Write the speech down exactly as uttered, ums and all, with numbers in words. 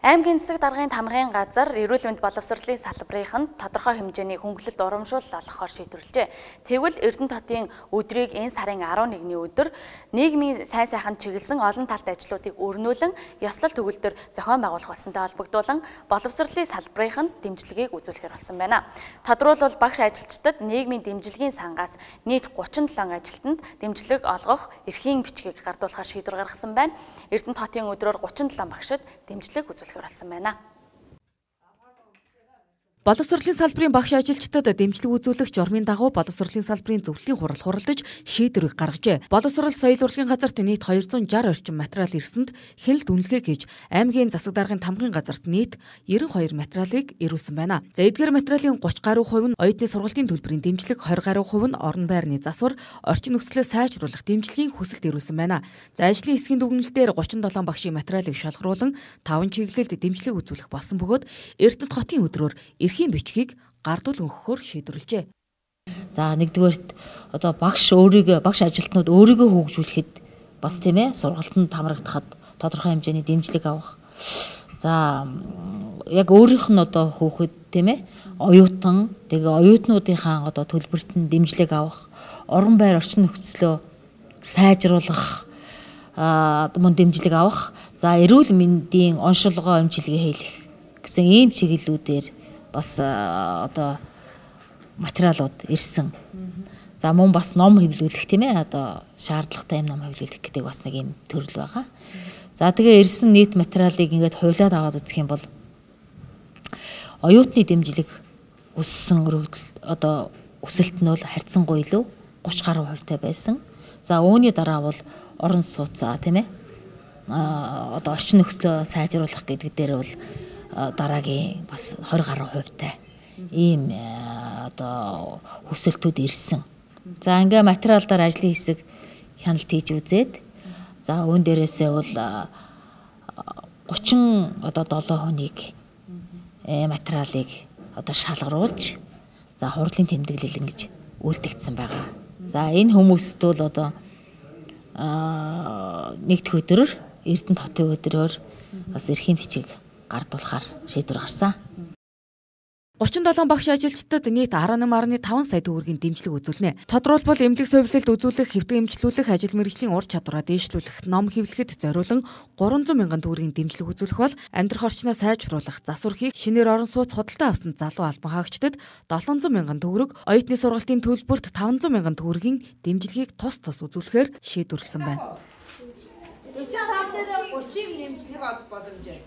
Аймгийн засаг даргын тамгын газар эрүүл мэнд боловсролын салбарынханд тодорхой хэмжээний хөнгөлөлт урамшуул олгохоор шийдвэрлэжээ. Тэгвэл Эрдэнэтотын өдрийг энэ сарын арван нэгний өдөр нийгмийн сайн сайханд чиглэсэн олон талт ажлуудыг өрнүүлэн ёслол төгөлдөр зохион байгуулах болсонтой холбогдуулан боловсролын салбарынханд дэмжлэгийг үзүүлэхээр болсон байна. Тодруулбал багш ажилчдад нийгмийн дэмжлэгийн сангаас нийт гучин долоо ажилтнанд дэмжлэг олгох эрхийн бичгийг гардуулахаар шийдвэр гаргасан байна. Эрдэнэтотын өдрөөр гучин долоо багшид дэмжлэг үзүүлэх болсон байна. Боловсролын салбарын багш ажилчдад дэмжлэг үзүүлэх журмын дагуу боловсролын салбарын зөвлөлийн хурал хуралдаж шийдвэрийг гаргажээ. Боловсрол соёл урлагийн газарт нийт хоёр зуун шарх орчим материал ирсэнд хяналт үнэлгээ хийж аймгийн засаг даргын тамгын газарт нийт девяносто two материалыг ирүүлсэн байна. За эдгээр материалын thirty гаруй хувь нь оюутны сургалтын төлбөрийн дэмжлэг, twenty гаруй хувь нь орон байрны засвар, орчин нөхцөлөө сайжруулах дэмжлэгийн хүсэлт ирүүлсэн байна. За ажлын хэсгийн дүгнэлтээр thirty-seven багшийн материалыг шалгаруулан five чиглэлд дэмжлэг үзүүлэх болсон бөгөөд Эрдэнэт хотын өдрөөр эрхийн бичгийг гардуул өгөхөөр шийдвэрлэжээ. За нэгдүгээрт одоо багш өөрийгөө багш ажилтнууд өөрийгөө хөгжүүлэхэд бас тийм ээ сургалтанд хамрагдахад тодорхой хэмжээний дэмжлэг авах. За яг өөрийнх нь одоо хөөхөд тийм ээ оюутан тэгээ оюутнуудынхаа одоо төлбөрт нь дэмжлэг авах, орон байр орчин нөхцөлөө сайжруулах а мөн дэмжлэг авах. За эрүүл мэндийн оншилгоо эмчилгээ хийх гэсэн ийм чиглэлүүдээр бас одоо материалууд ирсэн. За мөн бас ном хэвлүүлэх тийм ээ одоо шаардлагатай юм ном хэвлүүлэх гэдэг бас нэг юм төрөл байгаа. За тэгээ ирсэн нийт материалыг ингээд хуулиад аваад үзэх юм бол оюутны дэмжлэг өссөн өргөдөл одоо өсөлт нь бол харьцангуй илүү thirty гаруй хувьтай байсан. За үүний дараа бол орон сууцаа тийм ээ а одоо орчин нөхцөлөө сайжруулах гэдэг дээр бол дараагийн бас twenty гаруй хувьтай ийм одоо хүсэлтүүд ирсэн. За ингээ материалдаар ажлын хэсэг хяналт хийж үзээд за үүн дээрээсээ бол thirty одоо seven хүнийг материалыг одоо шалгаруулж за хурлын тэмдэглэл ингэж үйлдэгдсэн байгаа. За энэ хүмүүст бол одоо нэгд өдрөөр Эрдэнэт хотын өдрөөр бас эрхийн бичиг гардуулахаар шийдвэр гарсан. thirty-seven багш ажилчдад нийт eighteen point five сая төгрөгийн дэмжлэг үзүүлнэ. Тодруулбал эмнэлэг совилолд үзүүлэх, хэвтэг эмчлүүлэх, ажил мэргэжлийн ур чадвараа дээшлүүлэх, ном хэвлэхэд зориулан three hundred мянган төгрөгийн дэмжлэг үзүүлэх бол амьдрах орчноо сайжруулах, засвархийг шинээр орон сууц худалдаа авсан залуу албан хаагчдад seven hundred мянган төгрөг, оюутны сургалтын төлбөрт five hundred мянган төгрөгийн дэмжлэгийг тус тус үзүүлэхээр шийдвэрлсэн байна. forty-five дээр thirty-ийг нэмжлэг олох боломжтой.